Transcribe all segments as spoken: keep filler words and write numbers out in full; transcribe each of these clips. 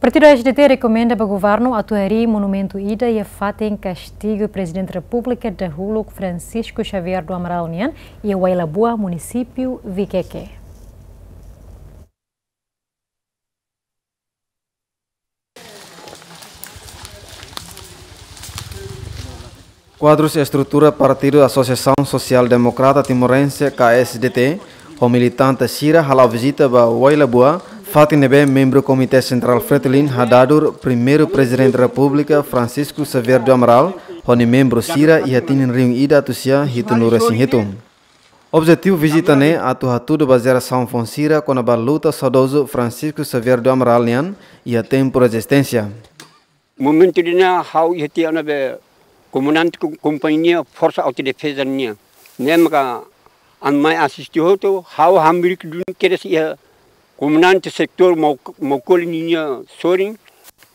Partidu A S D T rekomenda ba governu atu harii monumentu ida iha fatin kastigu Prezidente Repúblika dahuluk Francisco Xavier do Amaral nian iha Uailabua, munisípiu Viqueque. Kuadrus estrutura Partidu Asosiasaun Sosiál Demokrata Timorense, K A S D T, ho militante sira hala'o vizita ba Uailabua, fatin ne'ebé membru Komité Sentrál Fretilin hadadur Primeiru Prezidente Repúblika Francisco Xavier do Amaral ho nia membru sira iha tinin rihun ida atus sia hitunulu resin hitu. Objetivu vizita ne'e atu hatudu ba jerasaun foun sira kona-ba luta saudozu Francisco Xavier do Amaral nian iha tempu rezisténsia. Momentu ida-ne'e ha'u iha tiha ona be komandante ko-, kompañia Forsa Autodefeza nian. Ne'e maka ami mai asiste hotu, ha'u hamriik duni kedas iha komandante setór Mau-, Maukoli ninia sorin,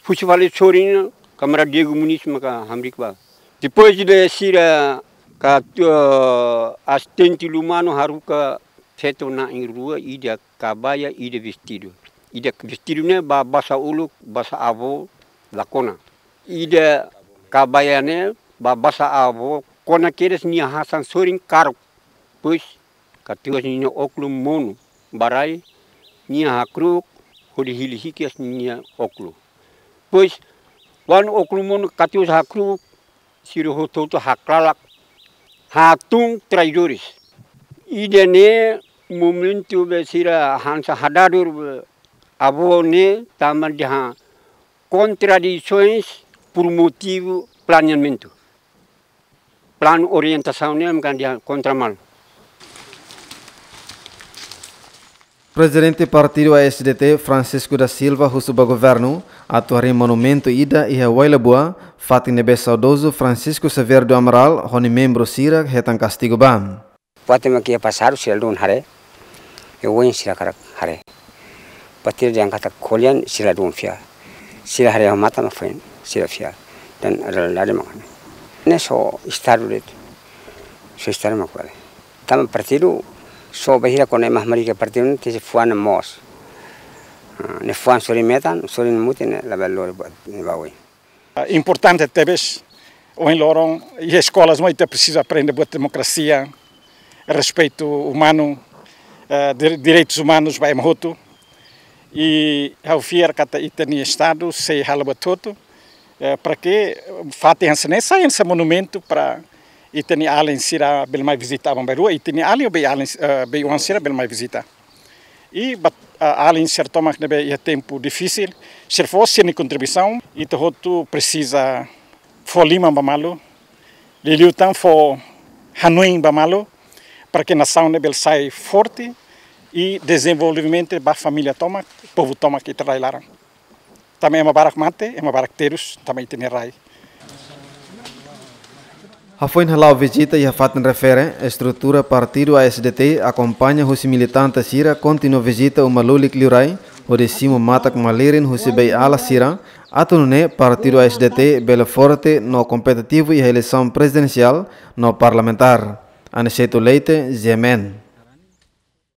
husi fali sorin, kamarada Diego Muniz maka hamriik ba. Depois de sira ka, eh, asistente Lumano haruka feto na'in rua, ida kabaia, ida vestidu. Ida vestidu ne'e ba basa uluk, basa avó la kona. Ida kabaia ne'e ba basa avó kona kedas, nia hasan sorin karuk. Depois katuas ninia ókulu monu ba rai, nia hakru'uk hodi hili hikas ninia ókulu. Depois, kuandu ókulu monu katuas hakru'uk, sira hotu-hotu haklalak, hatún traidores. Ida-ne'e momentu be sira hanesan hadadur be avó ne'e tanba dehan kontradisoens por motivu planeamentu. Planu orientasaun ne'e ami kan dehan kontra malu. Prezidente Partidu A S D T, Francisco da Silva, husu ba governu atu harii monumentu ida iha Uailabua, fatin ne'ebé saudozu Francisco Xavier do Amaral ho nia membru sira hetan kastigu ba. Buat ema ke pasadu sira ladún haree, e oin sira hakarak haree. Buat ida yang kata kolian sira ladún fiar. Sira haree ho mata mak foin sira fiar. Dan realidade mak ne'e. Ne'e só estadu de'it. Só estadu mak bele. Tanba partidu só bainhira kona ema hamriik iha partidu ne'e tenke fuan moos. Ah, ne'e fuan sorin metan, sorin mutin ne'e labele lori buat ne'e ba oin. Ah, importante tebes, ohin loron, iha eskolas mós ita presiza aprende buat demokrasia, respeitu umanu, eh, dire-, direitus umanus ba ema hotu. I ha'u fiar katak ita-nia estadu sei halo buat hotu, eh, para ke fatin hanesan ne'e sai hanesan monumentu para ita-nia alin sira bele mai vizita aban-bainrua, ita-nia alin ou bei-alin, eh, bei-oan sira bele mai vizita. I ba, ah, alin sira tomak ne'ebé iha tempu difisil, sira fó sira-nia kontribuisaun, ita hotu presiza fó liman ba malu, liuliu tan fó hanoin ba malu, para ke nasaun ne'e bele sai forte i dezenvolvimentu ba família tomak, povu tomak ita rai laran. Tanba ema barak mate, ema barak terus, tanba ita-nia rai. Hafoin hala'o vizita iha fatin refere, estrutura partidu A S D T akompaña husi militante sira kontinua vizita uma lulik liurai, hodi simu matak malirin husi bei-ala sira, atu nune'e partidu A S D T bele forte no kompetitivu iha eleisaun prezidensiál no parlamentár. Aniceto Leite, G M N.